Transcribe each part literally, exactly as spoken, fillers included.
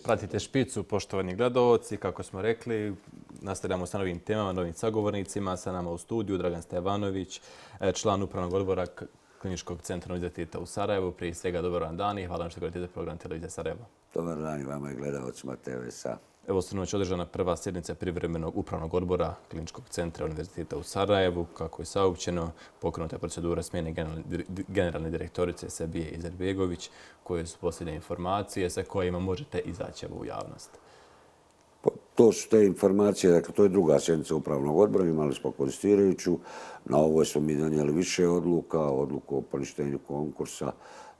Pratite Špicu, poštovani gledalci. Kako smo rekli, nastavljamo sa novim temama, novim sagovornicima. Sa nama u studiju Dragan Stevanović, član Upravnog odbora Kliničkog centra Univerziteta u Sarajevu. Prije svega, dobar vam dan i hvala vam što gledate program Televizije Sarajevo. Dobar dan i vama i gledalcima te ve es a. Evo sinoć održana prva sjednica privremenog upravnog odbora Kliničkog centra Univerziteta u Sarajevu. Kako je saopćeno, pokrenuta je procedura smjene generalne direktorice Sebije Izetbegović, koje su posljednje informacije sa kojima možete izaći u javnost. To su te informacije, dakle to je druga sjednica upravnog odbora, imali smo konstituirajuću. Na ovoj smo mi donijeli više odluka, odluku o poništenju konkursa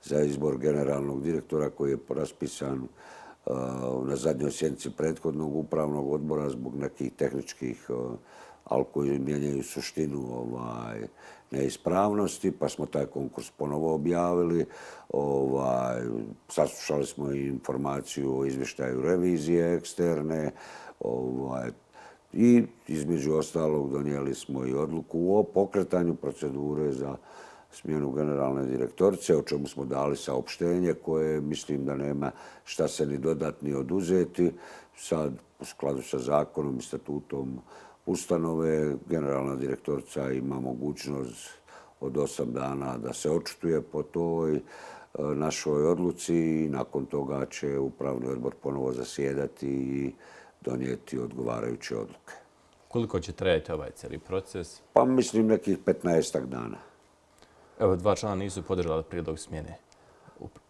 za izbor generalnog direktora koji je raspisan na zadnjoj sjednici prethodnog upravnog odbora zbog nekih tehničkih, ali koji mijenjaju suštinu neispravnosti, pa smo taj konkurs ponovo objavili. Saslušali smo i informaciju o izvještaju revizije eksterne i između ostalog donijeli smo i odluku o pokretanju procedure za smjenu generalne direktorice, o čemu smo dali saopštenje koje mislim da nema šta se ni dodati ni oduzeti. Sad, u skladu sa zakonom i statutom ustanove, generalna direktorica ima mogućnost od osam dana da se očituje po toj našoj odluci i nakon toga će upravni odbor ponovo zasjedati i donijeti odgovarajuće odluke. Koliko će trajati ovaj cijeli proces? Pa mislim nekih petnaestak dana. Evo, dva člana nisu podržali prijedlog smjene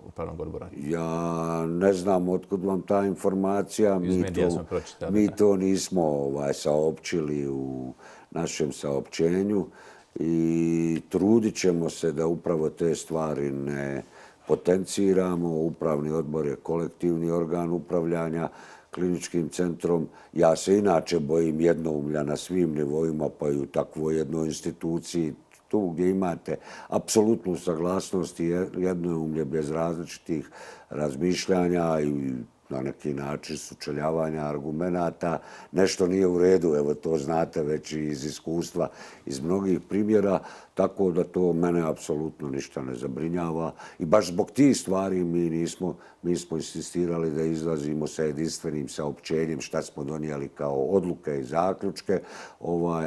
upravnog odbora. Ja ne znam otkud vam ta informacija. Iz medija smo pročitali. Mi to nismo saopćili u našem saopćenju i trudit ćemo se da upravo te stvari ne potenciramo. Upravni odbor je kolektivni organ upravljanja kliničkim centrom. Ja se inače bojim jednoumlja na svim nivoima, pa i u takvoj jednoj instituciji, tu gdje imate apsolutnu saglasnost i jednoumlje bez različitih razmišljanja i na neki način sučeljavanja argumenata. Nešto nije u redu, evo to znate već iz iskustva, iz mnogih primjera, tako da to mene apsolutno ništa ne zabrinjava. I baš zbog tih stvari mi nismo, mi smo insistirali da izlazimo sa jedinstvenim saopćenjem šta smo donijeli kao odluke i zaključke,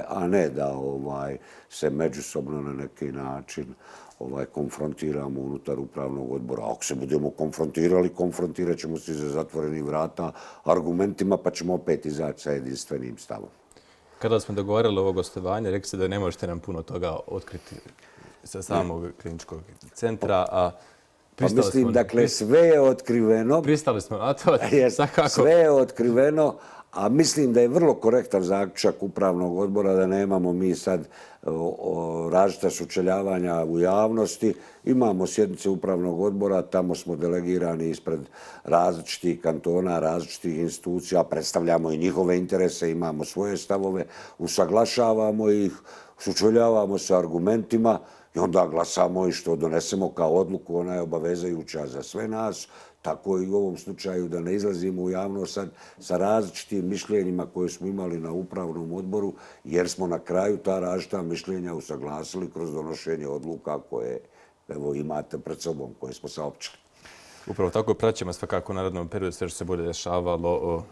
a ne da se međusobno na neki način konfrontiramo unutar upravnog odbora. Ako se budemo konfrontirali, konfrontirat ćemo se iza zatvorenih vrata argumentima, pa ćemo opet izaći sa jedinstvenim stavom. Kada smo dogovarali ovo gostovanje, rekli ste da ne možete nam puno toga otkriti sa samog kliničkog centra, a pa mislim, dakle, sve je otkriveno. Pristali smo na to. Sve je otkriveno, a mislim da je vrlo korektan zaključak upravnog odbora da nemamo mi sad različita sučeljavanja u javnosti. Imamo sjednice upravnog odbora, tamo smo delegirani ispred različitih kantona, različitih institucija, predstavljamo i njihove interese, imamo svoje stavove, usaglašavamo ih, sučeljavamo se argumentima i onda glasamo i što donesemo kao odluku, ona je obavezajuća za sve nas. Tako i u ovom slučaju da ne izlazimo u javnost sad sa različitim mišljenjima koje smo imali na upravnom odboru, jer smo na kraju ta različita mišljenja usaglasili kroz donošenje odluka koje imate pred sobom, koje smo saopćili. Upravo tako praćemo svakako u narednom periodu sve što se bude dešavalo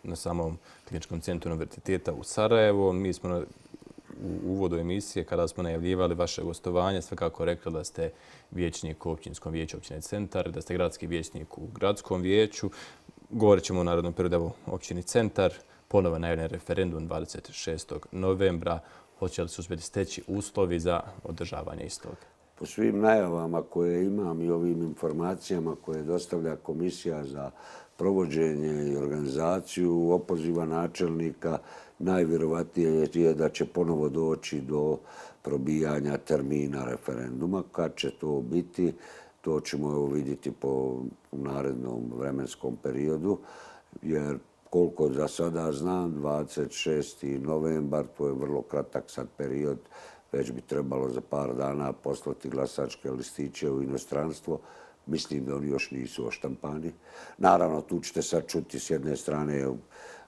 na samom kliničkom centru Univerziteta u Sarajevu. Mi smo u uvodu emisije, kada smo najavljivali vaše gostovanje, svakako rekli da ste vijećnik u općinskom vijeću općine Centar, da ste gradski vijećnik u gradskom vijeću. Govorit ćemo u narednom periodu o općini Centar. Ponovo najavljen referendum dvadeset šestog novembra. Hoće li se uspjeti steći uslovi za održavanje istog? Po svim najavama koje imam i ovim informacijama koje dostavlja Komisija za provođenje i organizaciju opoziva načelnika, najvjerovatnije je da će ponovo doći do probijanja termina referenduma. Kad će to biti, to ćemo vidjeti po narednom vremenskom periodu, jer koliko za sada znam, dvadeset šesti novembar, to je vrlo kratak sad period, već bi trebalo za par dana poslati glasačke listiće u inostranstvo. Mislim da oni još nisu oštampani. Naravno, tu ćete sad čuti s jedne strane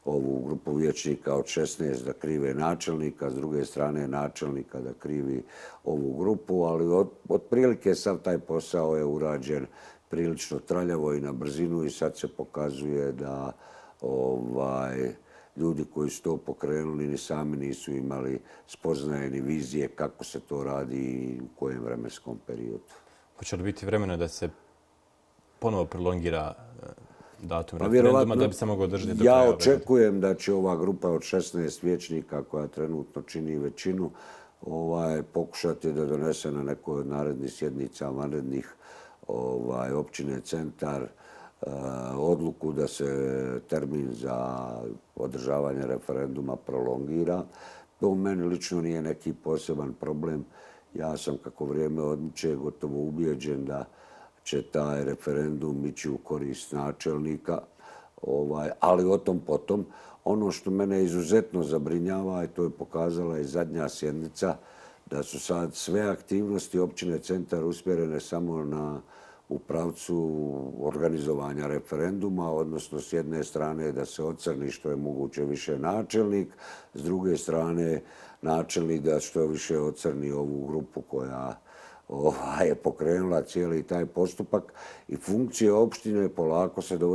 ovu grupu vijećnika od šesnaest da krive načelnika, s druge strane načelnika da krivi ovu grupu, ali otprilike sav taj posao je urađen prilično traljavo i na brzinu i sad se pokazuje da ovaj, ljudi koji su to pokrenuli ni sami nisu imali spoznaje ni vizije kako se to radi i u kojem vremenskom periodu. Hoće li biti vremena da se ponovo prolongira datum pa referenduma da bi se moglo održati do kraja? Ja očekujem da će ova grupa od šesnaest vijećnika koja trenutno čini većinu ovaj, pokušati da donese na nekoj od narednih sjednica vanrednih ovaj, općine Centar odluku da se termin za održavanje referenduma prolongira. To u meni lično nije neki poseban problem. Ja sam kako vrijeme odmiče gotovo ubijeđen da će taj referendum ići u korist načelnika, ovaj, ali o tom potom. Ono što mene izuzetno zabrinjava, i to je pokazala i zadnja sjednica, da su sad sve aktivnosti općine Centar usmjerene samo na u pravcu organizovanja referenduma, odnosno s jedne strane da se ocrni što je moguće više načelnik, s druge strane načelnik da što više ocrni ovu grupu koja je pokrenula cijeli taj postupak i funkcije opštine polako se dovode